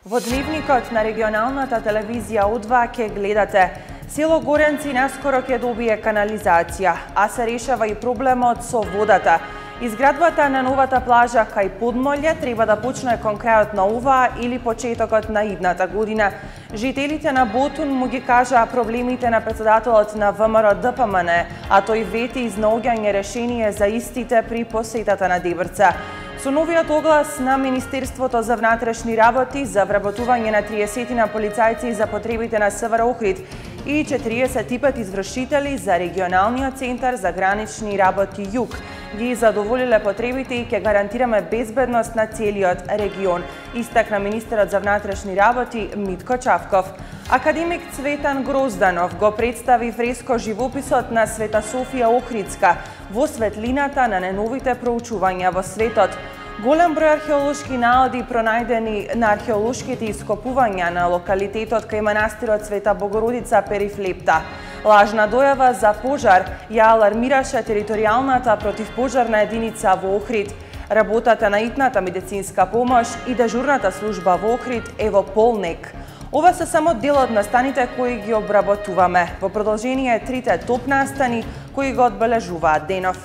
Во дневникот на регионалната телевизија О2 ќе гледате: село Горенци наскоро ќе добие канализација, а се решава и проблемот со водата. Изградбата на новата плажа кај Подмолје треба да почне кон крајот на оваа или почетокот на идната година. Жителите на Ботун му ги кажаа проблемите на председателот на ВМРО ДПМН, а тој вети изнаоѓање решение за истите при посетата на Дебрца. Со новиот оглас на Министерството за внатрешни работи за вработување на 30 на полицајци за потребите на СВР Охрид и 45 извршители за регионалниот центар за гранични работи Југ ги задоволиле потребите и ќе гарантираме безбедност на целиот регион, истакна министерот за внатрешни работи Митко Чавков. Академик Цветан Грозданов го представи фреско живописот на Света Софија Охридска во светлината на најновите проучувања во светот. Голем број археолошки наоди пронајдени на археолошките ископувања на локалитетот кај манастирот Света Богородица Перифлепта. Лажна дојава за пожар ја алармираше територијалната противпожарна единица во Охрид. Работата на итната медицинска помош и дежурната служба во Охрид е во полнек. Ова се само дел од настаните кои ги обработуваме. Во продолжение трите топ настани кои го одбележуваат денов.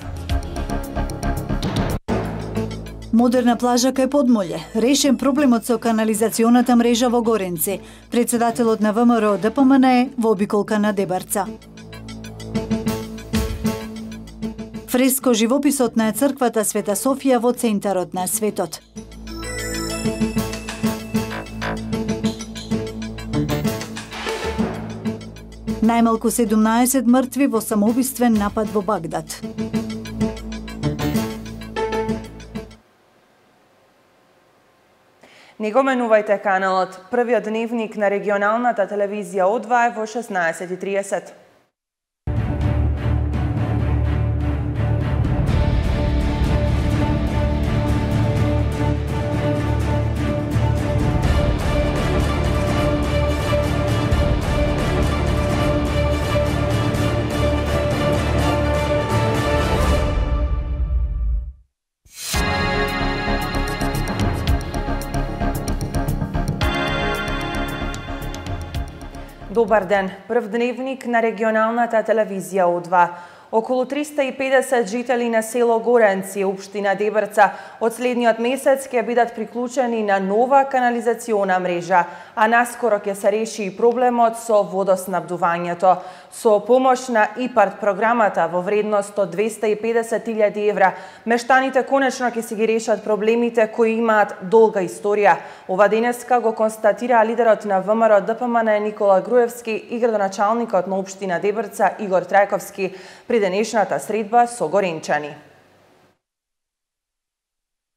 Модерна плажа кај Подмолје, решен проблемот со канализационата мрежа во Горенци. Председателот на ВМРО ДПМН е во обиколка на Дебарца. Фреско живописот на црквата Света Софија во центарот на светот. Најмалку 17 мртви во самоубиствен напад во Багдад. Не го менувајте каналот. Првиот дневник на регионалната телевизија О2 е во 16:30. Добар ден. Прв дневник на регионалната телевизија О2. Околу 350 жители на село Горенци, општина Дебрца, од следниот месец ќе бидат приклучени на нова канализациона мрежа, а наскоро ќе се реши и проблемот со водоснабдувањето. Со помош на ИПАРТ програмата во вредност од 250.000 евра, мештаните конечно ќе си ги решат проблемите кои имаат долга историја. Ова денеска го констатира лидерот на ВМРО ДПМН Никола Груевски и градоначалникот на општина Дебрца Игор Трајковски при денешната средба со горенчани.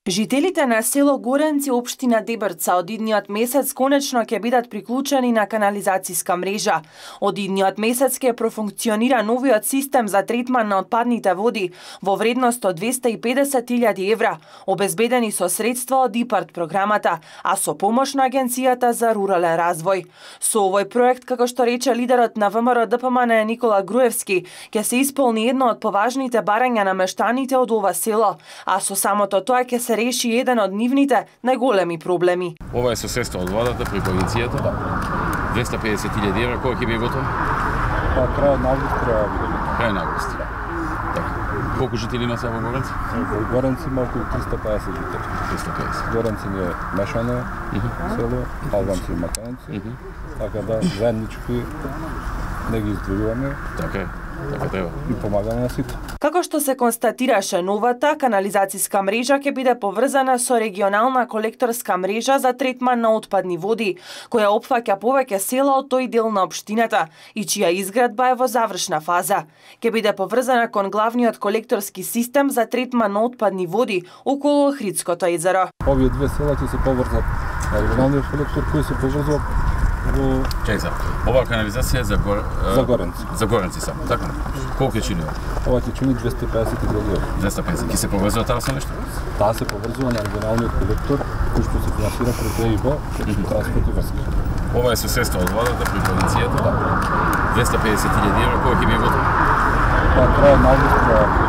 Жителите на село Горенци, општина Дебрца, од идниот месец конечно ќе бидат приклучени на канализацијска мрежа. Од идниот месец ќе профункционира новиот систем за третман на отпадните води во вредност од 250.000 евра, обезбедени со средства од ИПАРТ програмата, а со помош на Агенцијата за рурален развој. Со овој проект, како што рече лидерот на ВМРО ДПМН Никола Груевски, ќе се исполни едно од поважните барања на мештаните од ова село, а со самото тоа ќе се реши еден од нивните најголеми проблеми. Ова е со средства од владата преку агенцијата. 250.000 евра, кој ќе биде готов? Крај на август треба да биде. Крај на август. Така. Колку жители има сега во Горенци? Во Горенци има околу 350 жители. 350. Горенци ни е мешано село, албанци и македонци. Така да заеднички не ги издвојуваме. Така е. Така треба. И помагаме на сите. Како што се констатираше, новата канализацијска мрежа ќе биде поврзана со регионална колекторска мрежа за третман на отпадни води, која опфаќа повеќе села од тој дел на општината и чија изградба е во завршна фаза. Ќе биде поврзана кон главниот колекторски систем за третман на отпадни води околу Охридското езеро. Овие две села ќе се поврзат на регионалниот колектор кој се поврзува во... Чекај сега. Ова канализација за Горенци. За Горенци само, така? Колку ќе чини ова? Ова ќе чини 250.000 евра. 250. Ќе се поврзува таа со нешто? Таа се поврзува на регионалниот колектор кој што се финансира преку ЕИБ, транспорт и врски. Ова е со средства од владата преку агенцијата. 250.000 евра, кој ќе биде готов? Крај на август треба.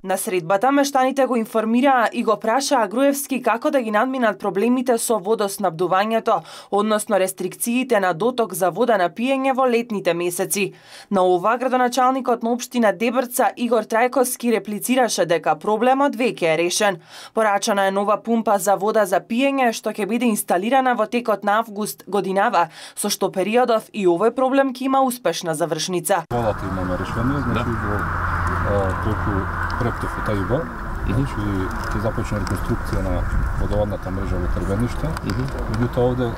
На средбата мештаните го информираа и го прашаа Груевски како да ги надминат проблемите со водоснабдувањето, односно рестрикциите на доток за вода на пиење во летните месеци. На ова градоначалникот на општина Дебрца Игор Трајковски реплицираше дека проблемот веќе е решен. Порачана е нова пумпа за вода за пиење што ќе биде инсталирана во текот на август годинава, со што периодов и овој проблем ќе има успешна завршница. Водата имаме решение, значи преку проектот ФТИБ, значи ќе започне реконструкција на водоводната мрежа во Трбениште. Меѓутоа овде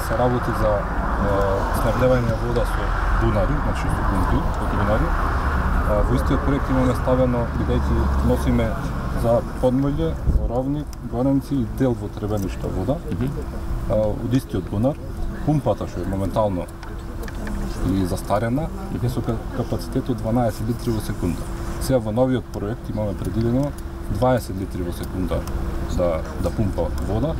се работи за снабдевање вода со бунари, значи со пумпи од бунари. Во истиот проект имаме ставено, бидејќи носиме за Подмолје, Ровник, Горенци и дел во Трбениште вода, од истиот бунар. Пумпата што е моментално и застарена, е со капацитет од 12 литри во секунда. Сега во новиот проект имаме предвидено 20 литри во секунда да пумпа вода.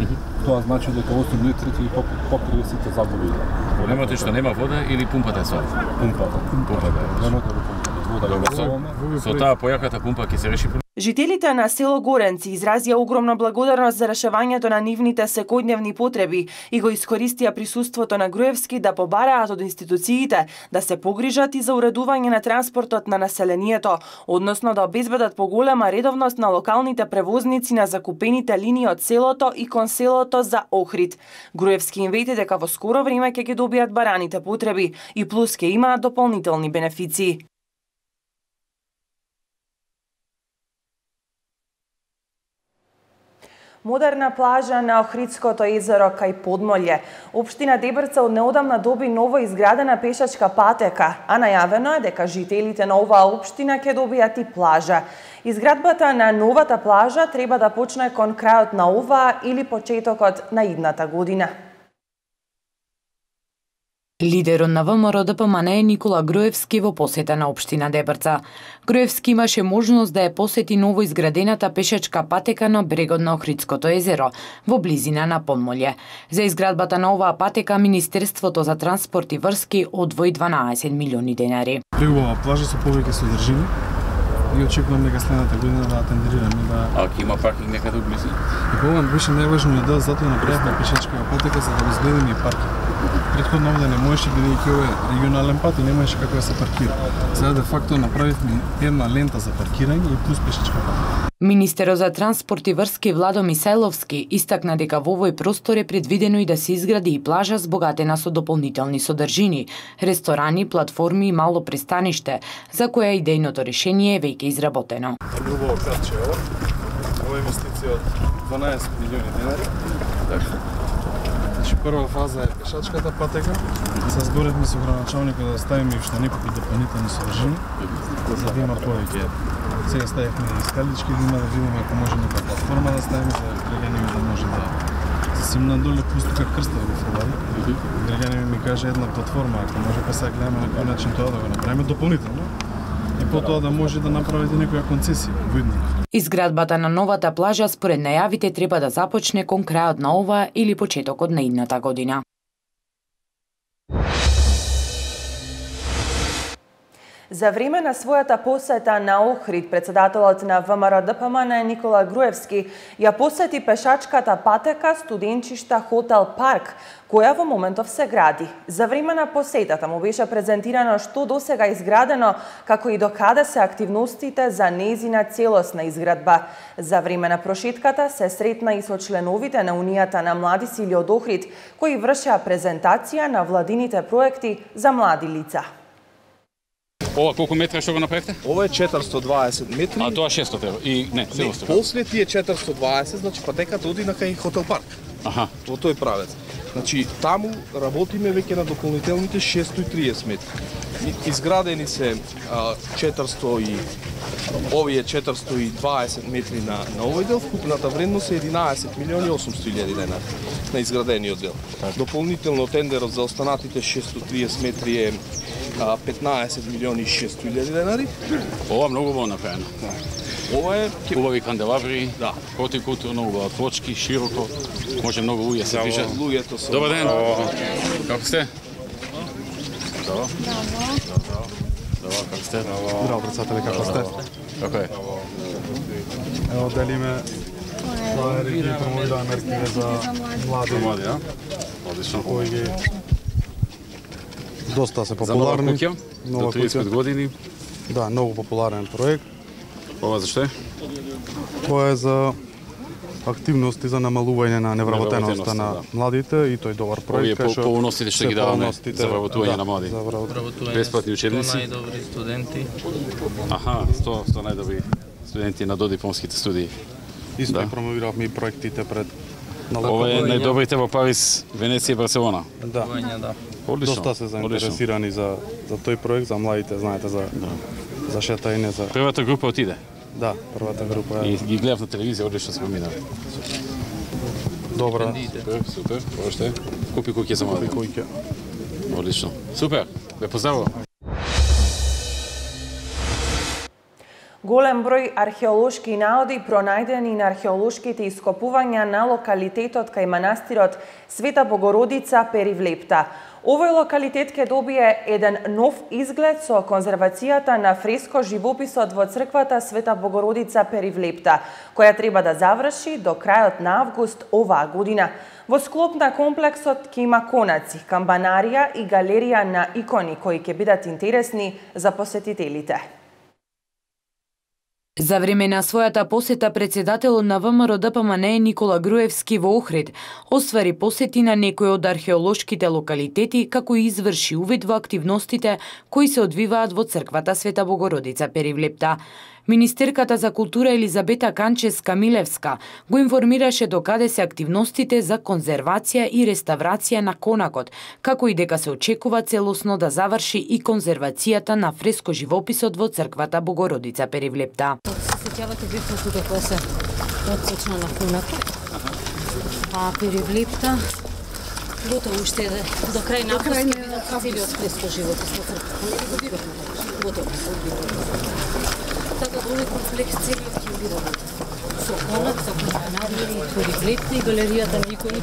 Тоа значи дека 8 литри ќе покрие сите загуби. Проблемот е што нема вода или пумпата е слаба? Пумпата. Проблемот е вода. Со таа појаката пумпа ќе се реши. Жителите на село Горенци изразија огромна благодарност за решавањето на нивните секојдневни потреби и го искористија присуството на Груевски да побараат од институциите да се погрижат и за уредување на транспортот на населението, односно да обезбедат поголема редовност на локалните превозници на закупените линии од селото и кон селото за Охрид. Груевски им вети дека во скоро време ќе ги добијат бараните потреби и плюс ќе имаат дополнителни бенефиции. Модерна плажа на Охридското езеро кај Подмолје. Општина Дебрца од неодамна доби ново изградена пешачка патека, а најавено е дека жителите на оваа општина ќе добијат и плажа. Изградбата на новата плажа треба да почне кон крајот на оваа или почетокот на идната година. Лидерот на ВМРО ДПМН е Никола Груевски во посета на општина Дебрца. Груевски имаше можност да ја посети ново изградената пешачка патека на брегот на Охридското езеро, во близина на Подмолје. За изградбата на оваа патека Министерството за транспорт и врски одвои 12 милиони денари. Брегова плажа со повеќе содржини и очекувам дека следната година да атендираме да. А ќе има паркинг некаде близу? И повам беше најважниот дел, затоа направивме пешачка патека за да изгледаме и паркинг. Претходно овде не можеше, бидејќи ова е регионален пат и немаше како да се паркира. Сега де факто направивме една лента за паркирање и плюс пешачка патека. Министерот за транспорт и врски Владо Мисајловски истакна дека во овој простор е предвидено и да се изгради и плажа збогатена со дополнителни содржини, ресторани, платформи и мало пристаниште, за која идејното решение е веќе изработено. Убаво кратче ова. Ова е инвестиција од 12 милиони денари. Значи прва фаза е пешачката патека. Се зборивме со градоначалникот да ставиме уште неколку дополнителни содржини за да има повеќе. Сега ставивме и скалички, да видиме ако може нека платформа да ставиме за граѓаните да може да се симнат доле, плюс тука крстот го фрлари. Граѓаните ми каже една платформа, ако може па сега гледаме на кој начин тоа да го направиме дополнително. И потоа да може да направите некоја концесија во иднина. Изградбата на новата плажа според најавите треба да започне кон крајот на ова или почетокот на идната година. За време на својата посета на Охрид, председателот на ВМРО ДПМН Никола Груевски ја посети пешачката патека студенчишта Хотел Парк, која во моментов се гради. За време на посетата му беше презентирано што досега изградено, како и докаде се активностите за нејзина целосна изградба. За време на прошетката се сретна и со членовите на Унијата на млади сили од Охрид, кои вршеа презентација на владините проекти за млади лица. Ова колку метра што го направивте? Ова е 420 метри. А тоа 600 и не, целосно. После тие 420, значи патеката оди на кај Хотел Парк. Аха. Во тој правец. Значи таму работиме веќе на дополнителните 630 метри. Изградени се 400 и овие 420 метри на овој дел, вкупната вредност е 11 милиони 800 илјади денари на изградениот дел. Дополнително тендерот за останатите 630 метри е 15 милиони 600 илјади денари. Ова многу убаво направено. Ова е убави канделабри, да, хотикултурно, убава точки, широко. Може многу луѓе се движат. Луѓето се. Добар ден. Како сте? Добро. Здраво, како сте? Здраво, председателе, како сте? Како е? Ево, делиме флаери и промовираме мерките за млади. Млади, а? Одлично. Кои ги доста се За нова популарни. куќа, до 30 години. Да, многу популарен проект. Ова зашто е? Тоа е за активности за намалување на невработеноста на младите и тој добар Овие проект. полуностите што ги даваме за вработување на млади. За Бесплатни учебници. Најдобри студенти. Аха, 100 најдобри студенти на додипломските студии. Исто Да. и промовиравме и проектите пред на Ова е локални. најдобрите во Париз, Венеција и Барселона. Да. Да. Одлично. Доста се заинтересирани за тој проект, за младите, знаете, за шетање, за... Првата група отиде. Да, првата група И е ги гледав на телевизија, одлично се поминаа. добра. Супер, ова што е? Купи куќи за млади. Којке. Одлично. Супер, ве поздравувам. Голем број археолошки наоди пронајдени на археолошките ископувања на локалитетот кај манастирот Света Богородица Перивлепта. Овој локалитет ќе добие еден нов изглед со конзервацијата на фреско живописот во црквата Света Богородица Перивлепта, која треба да заврши до крајот на август оваа година. Во склоп на комплексот ќе има конаци, камбанарија и галерија на икони кои ќе бидат интересни за посетителите. За време на својата посета председателот на ВМРО ДПМНЕ Никола Груевски во Охрид оствари посети на некои од археолошките локалитети како и изврши увид во активностите кои се одвиваат во црквата Света Богородица Перивлепта. Министерката за култура Елизабета Канчевска-Милевска го информираше докаде се активностите за конзервација и реставрација на конакот, како и дека се очекува целосно да заврши и конзервацијата на фреско живописот во црквата Богородица Перивлепта. Се сеќавате бивме тука кога се отсечна на конакот, а Перивлепта готово уште до крај на август ќе бидат целиот фреско живопис во црквата. Готово. Така овој комплекс целиот ќе биде со конак, со камбанарија, Перивлепта и галеријата на икони.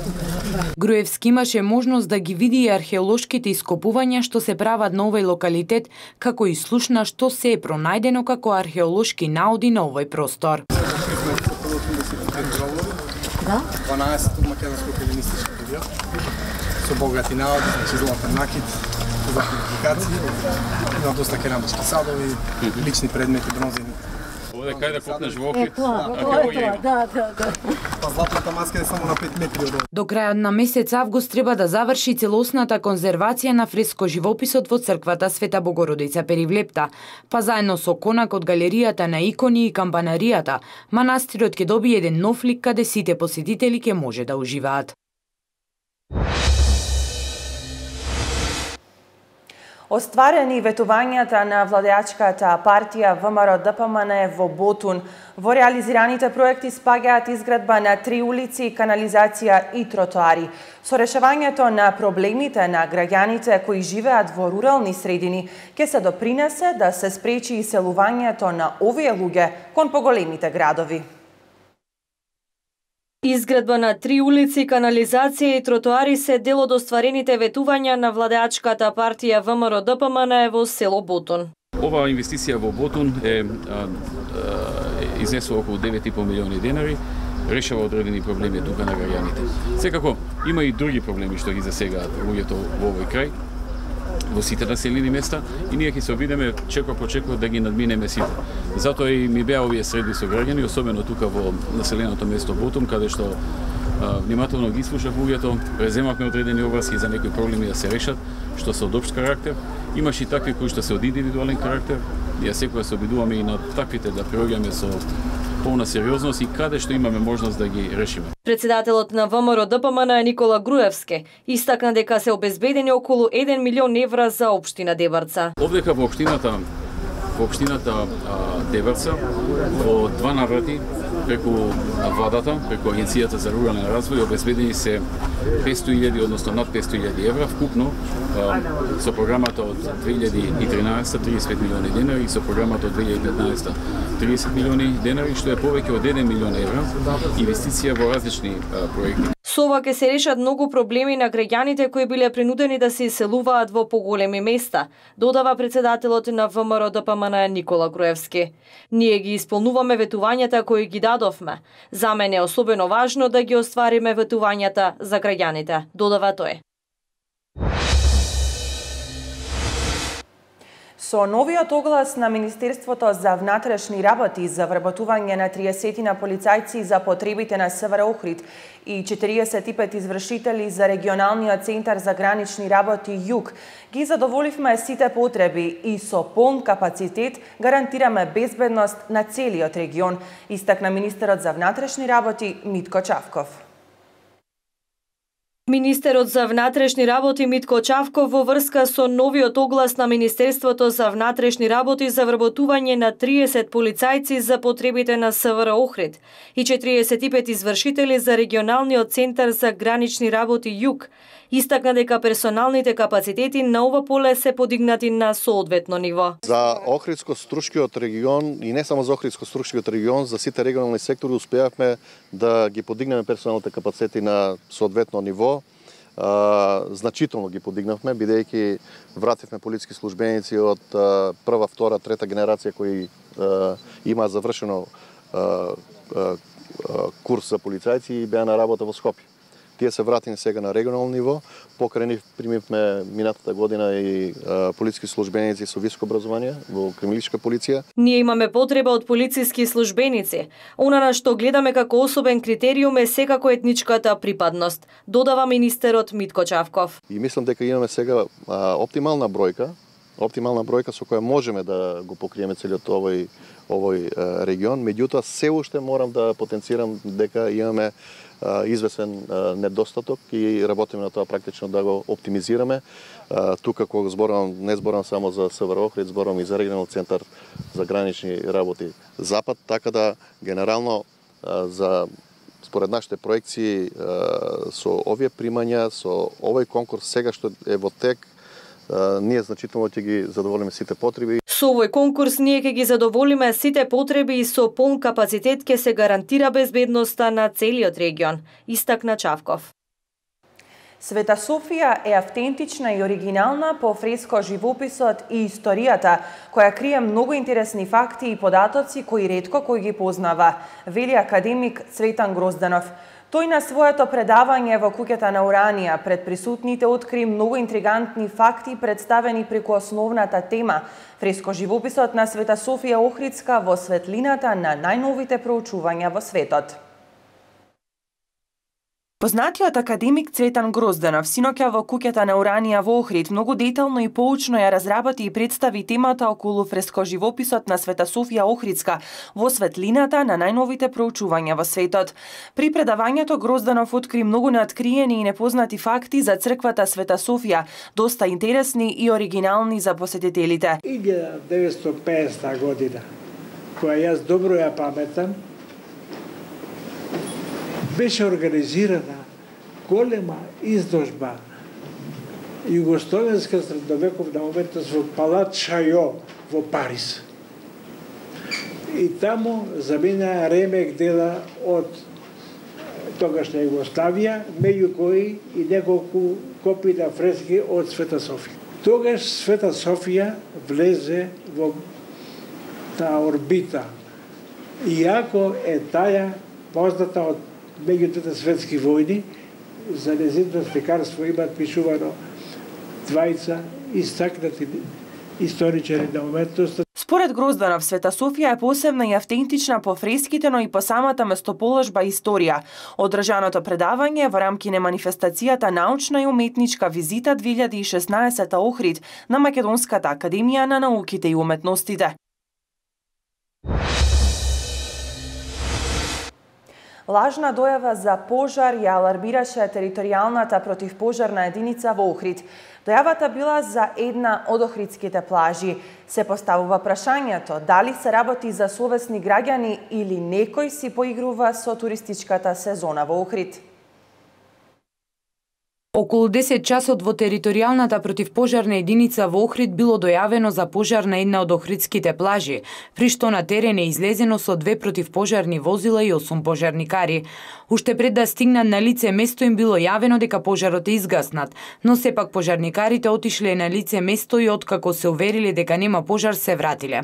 Груевски имаше можност да ги види и археолошките ископувања што се прават на овој локалитет, како и слушна што се е пронајдено како археолошки наоди на овој простор. Да? 12 од македонско хелинистички период, со богати наоди, значи златен накид, за публикација, има доста керамички садови, лични предмети, бронзени. Овде кај да копнеш во Охрид, Да. Па златната маска е само на 5 метри од До крајот на месец август треба да заврши целосната конзервација на фреско живописот во црквата Света Богородица Перивлепта, па заедно со конак од галеријата на икони и камбанаријата, манастирот ќе добие еден нов лик каде сите посетители ќе може да уживаат. Остварени ветувањата на владеачката партија ВМРО ДПМНЕ во Ботун. Во реализираните проекти спаѓаат изградба на 3 улици, канализација и тротоари. Со решавањето на проблемите на граѓаните кои живеат во рурални средини, ќе се допринесе да се спречи иселувањето на овие луѓе кон поголемите градови. Изградба на 3 улици, канализација и тротоари се дел од остварените ветувања на владеачката партија ВМРО ДПМНЕ во село Ботун. Оваа инвестиција во Ботун изнесува околу 9,5 милиони денари, решава одредени проблеми тука на граѓаните. Секако, има и други проблеми што ги засегаат луѓето во овој крај, во сите населени места, и ние ќе се обидеме чекор по чекор да ги надминеме сите. Затоа и ми беа овие средби со граѓани, особено тука во населеното место Ботун, каде што внимателно ги слушав луѓето, преземавме одредени обврски за некои проблеми да се решат, што се од општ карактер. Имаше и такви кои што се од индивидуален карактер. Ја секоја се обидуваме и на таквите да приоѓаме со полна сериозност и каде што имаме можност да ги решиме. Председателот на ВМРО ДПМНЕ Никола Груевски истакна дека се обезбедени околу 1 милион евра за општина Дебарца. Овдека во општината Дебарца во 2 наврати преку владата, преку Агенцијата за рурален развој обезбедени се 500.000, односно над 500.000 евра вкупно со програмата од 2013 35 милиони денари и со програмата од 2015 30 милиони денари, што е повеќе од 1 милион евра инвестиција во различни проекти. Со ова ќе се решат многу проблеми на граѓаните кои биле принудени да се иселуваат во поголеми места, додава председателот на ВМРО ДПМН Никола Груевски. Ние ги исполнуваме ветувањата кои ги дадовме. За мене е особено важно да ги оствариме ветувањата за граѓаните, додава тој. Со новиот оглас на Министерството за внатрешни работи за вработување на 30 полицајци за потребите на СВР Охрид и 45 извршители за регионалниот центар за гранични работи Југ, ги задоволивме сите потреби и со полн капацитет гарантираме безбедност на целиот регион, истакна министерот за внатрешни работи Митко Чавков. Министерот за внатрешни работи Митко Чавков во врска со новиот оглас на Министерството за внатрешни работи за вработување на 30 полицајци за потребите на СВР Охрид и 45 извршители за регионалниот центар за гранични работи Југ, истакна дека персоналните капацитети на ова поле се подигнати на соодветно ниво. За Охридско-Струшкиот регион и не само за Охридско-Струшкиот регион, за сите регионални сектори успеавме да ги подигнеме персоналните капацитети на соодветно ниво. Значително ги подигнавме, бидејќи вративме полициски службеници од прва, втора, трета генерација кои има завршено курс за полицајци и беа на работа во Скопје. Тие се вратени сега на регионално ниво. Покрај нив примивме минатата година и полициски службеници со високо образование во криминалистичка полиција. Ние имаме потреба од полициски службеници. Она на што гледаме како особен критериум е секако етничката припадност, додава министерот Митко Чавков. И мислам дека имаме сега оптимална бројка со која можеме да го покриеме целиот овој регион. Меѓутоа се уште морам да потенцирам дека имаме извесен недостаток и работиме на тоа практично да го оптимизираме. Тука кога не зборам само за СВР Охрид, зборам и за регионален центар за гранични работи Запад, така да генерално според нашите проекции со овие примања, со овој конкурс сега што е во тек, ние значително ќе ги задоволиме сите потреби. Со овој конкурс ние ќе ги задоволиме сите потреби и со полн капацитет ќе се гарантира безбедноста на целиот регион, истакна Чавков. Света Софија е автентична и оригинална по фреско живописот и историјата, која крие многу интересни факти и податоци кои ретко кој ги познава, вели академик Цветан Грозданов. Тој на своето предавање во куќата на Уранија пред присутните откри многу интригантни факти представени преку основната тема фреско живописот на Света Софија Охридска во светлината на најновите проучувања во светот. Познатиот академик Цветан Грозданов синоќа во куќата на Уранија во Охрид многу детално и поучно ја разработи и представи темата околу фрескоживописот на Света Софија Охридска во светлината на најновите проучувања во светот. При предавањето Грозданов откри многу неоткриени и непознати факти за црквата Света Софија, доста интересни и оригинални за посетителите. 1950 година, која јас добро ја паметам, беше организирана голема изложба југословенска средновековна уметност во Палат Шајо во Париз. И таму замина ремек дела од тогашна Југославија, меѓу кои и неколку копии на фрески од Света Софија. Тогаш Света Софија влезе во таа орбита, иако е таја позната од меѓу двете светски војни, за нејзиното слекарство имаат пишувано двајца истакнати историчари на уметноста. Според Грозданов, Света Софија е посебна и автентична по фреските, но и по самата местоположба и историја. Одржаното предавање во рамки на манифестацијата Научна и уметничка визита 2016 Охрид на Македонската академија на науките и уметностите. Лажна дојава за пожар ја алармираше територијалната противпожарна единица во Охрид. Дојавата била за една од охридските плажи. Се поставува прашањето дали се работи за совесни граѓани или некој си поигрува со туристичката сезона во Охрид. Околу 10 часот во територијалната противпожарна единица во Охрид било дојавено за пожар на една од охридските плажи, при што на терен е излезено со 2 противпожарни возила и 8 пожарникари. Уште пред да стигнат на лице место им било јавено дека пожарот е изгаснат, но сепак пожарникарите отишле на лице место и откако се увериле дека нема пожар се вратиле.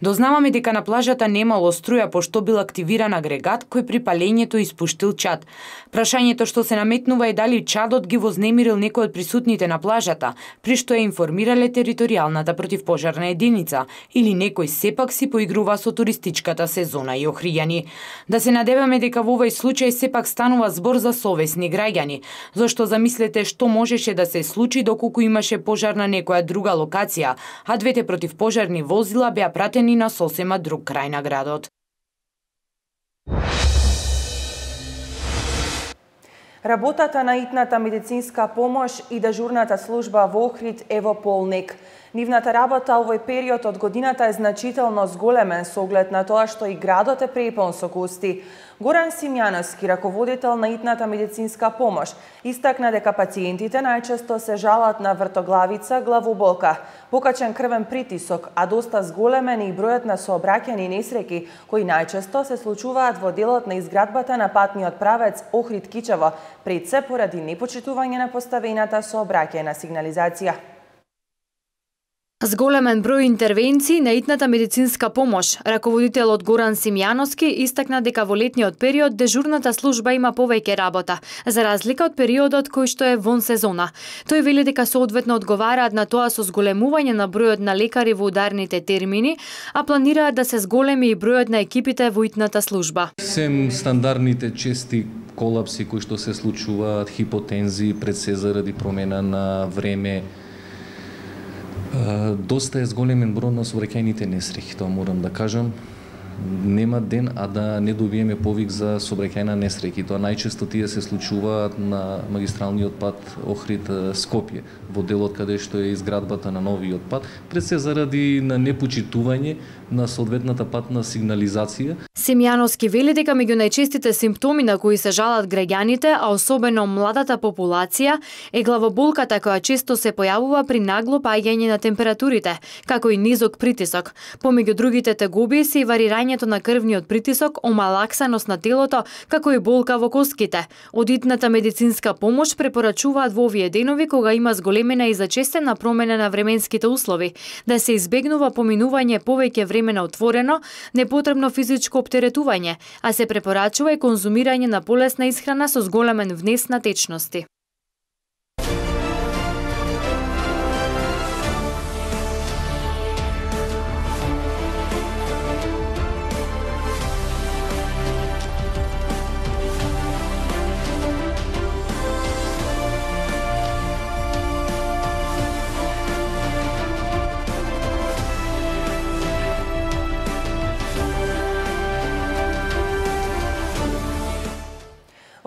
Дознаваме дека на плажата немало струја пошто бил активиран агрегат кој при палењето испуштил чад. Прашањето што се наметнува е дали чадот ги вознемирил некој од присутните на плажата, при што ја информирале територијалната противпожарна единица, или некој сепак си поигрува со туристичката сезона и охријани. Да се надеваме дека во овој случај сепак станува збор за совесни граѓани, зашто замислете што можеше да се случи доколку имаше пожар на некоја друга локација, а двете противпожарни возила беа пратени на сосема друг крај на градот. Работата на итната медицинска помош и дежурната служба во Охрид е во полник. Нивната работа овој период од годината е значително зголемен со оглед на тоа што и градот е препон со гости. Горан Симјановски, раководител на итната медицинска помош, истакна дека пациентите најчесто се жалат на вртоглавица, главоболка, покачен крвен притисок, а доста зголемен и бројот на сообраќајни несреќи кои најчесто се случуваат во делот на изградбата на патниот правец Охрид-Кичево, пред се поради непочитување на поставената сообраќајна сигнализација. Зголемен број интервенции на итната медицинска помош, раководителот Горан Симјановски истакна дека во летниот период дежурната служба има повеќе работа, за разлика од периодот кој што е вон сезона. Тој вели дека соодветно одговараат на тоа со зголемување на бројот на лекари во ударните термини, а планираат да се зголеми и бројот на екипите во итната служба. Сем стандардните чести колапси кои што се случуваат, хипотензии, пред се заради промена на време, доста е зголемен број на сообраќајните несреќи, тоа морам да кажам. Нема ден, а да не добиеме повик за сообраќајна несреќа. Тоа најчесто тие се случуваат на магистралниот пат Охрид-Скопје, во делот каде што е изградбата на новиот пат, пред се заради на непочитување на соодветната патна сигнализација. Симјановски вели дека меѓу најчестите симптоми на кои се жалат граѓаните, а особено младата популација, е главоболката која често се појавува при нагло паѓање на температурите, како и низок притисок. Помеѓу другите тегоби се и варирањето на крвниот притисок, омалаксаност на телото, како и болка во коските. Од итната медицинска помош препорачуваат во овие денови кога има зголемена и зачестена промена на временските услови, да се избегнува поминување повеќе време на отворено, непотребно физичко оптеретување, а се препорачува и конзумирање на полесна исхрана со зголемен внес на течности.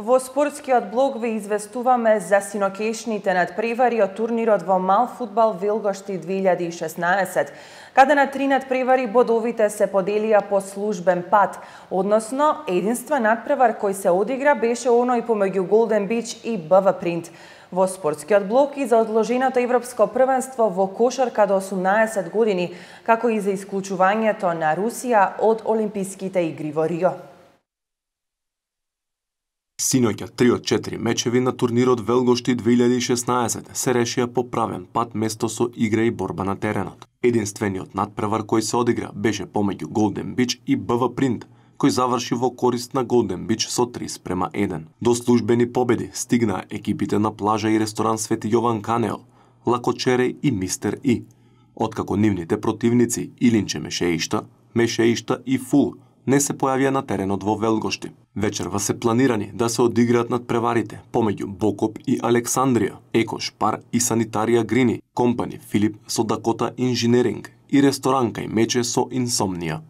Во спортскиот блог ви известуваме за синокешните надпревари од турнирот во мал фудбал Велгошти 2016, каде на 3 надпревари бодовите се поделија по службен пат, односно единствен надпревар кој се одигра беше оној помеѓу Голден Бич и БВ Принт. Во спортскиот блок и за одложеното европско првенство во кошарка до 18 години, како и за исклучувањето на Русија од Олимписките игри во Рио. Синоќа 3 од 4 мечеви на турнирот Велгошти 2016 се решија по правен пат место со игра и борба на теренот. Единствениот надпревар кој се одигра беше помеѓу Голден Бич и БВ Принт, кој заврши во корист на Голден Бич со 3:1. До службени победи стигнаа екипите на плажа и ресторан Свети Јован Канео, Лакочереј и Мистер И, откако нивните противници Илинче Мешеишта и Фул не се појавија на теренот во Велгошти. Вечерва се планирани да се одиграат надпреварите помеѓу Бокоп и Александрија, Екош Пар и Санитарија Грини, компани Филип со Дакота Инженеринг и ресторанка и Мече со Инсомнија.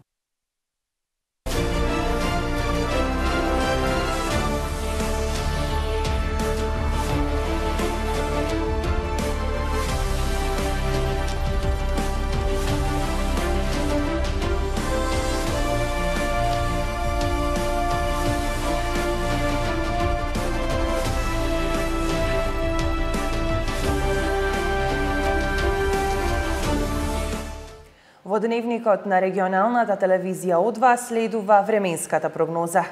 Во дневникот на регионалната телевизија О2 следува временската прогноза.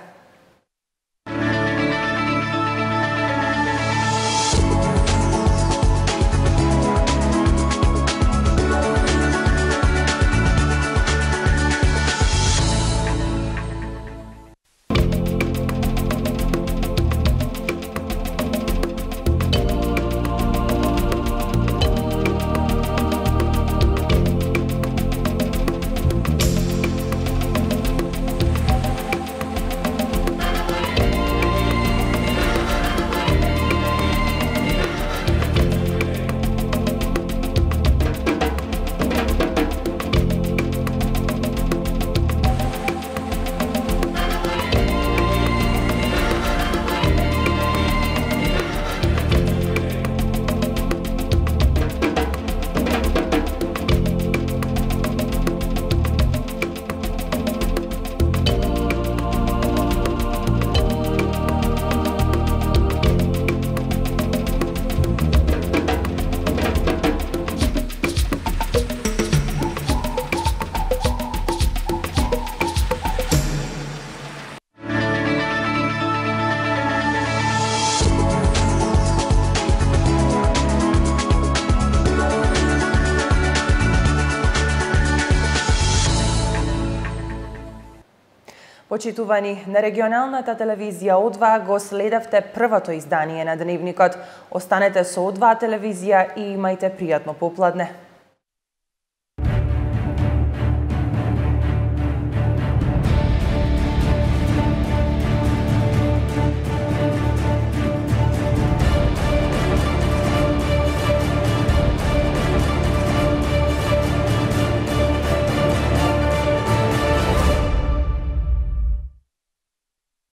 Почитувани, на регионалната телевизија О2 го следевте првото издание на дневникот. Останете со О2 телевизија и имајте пријатно попладне.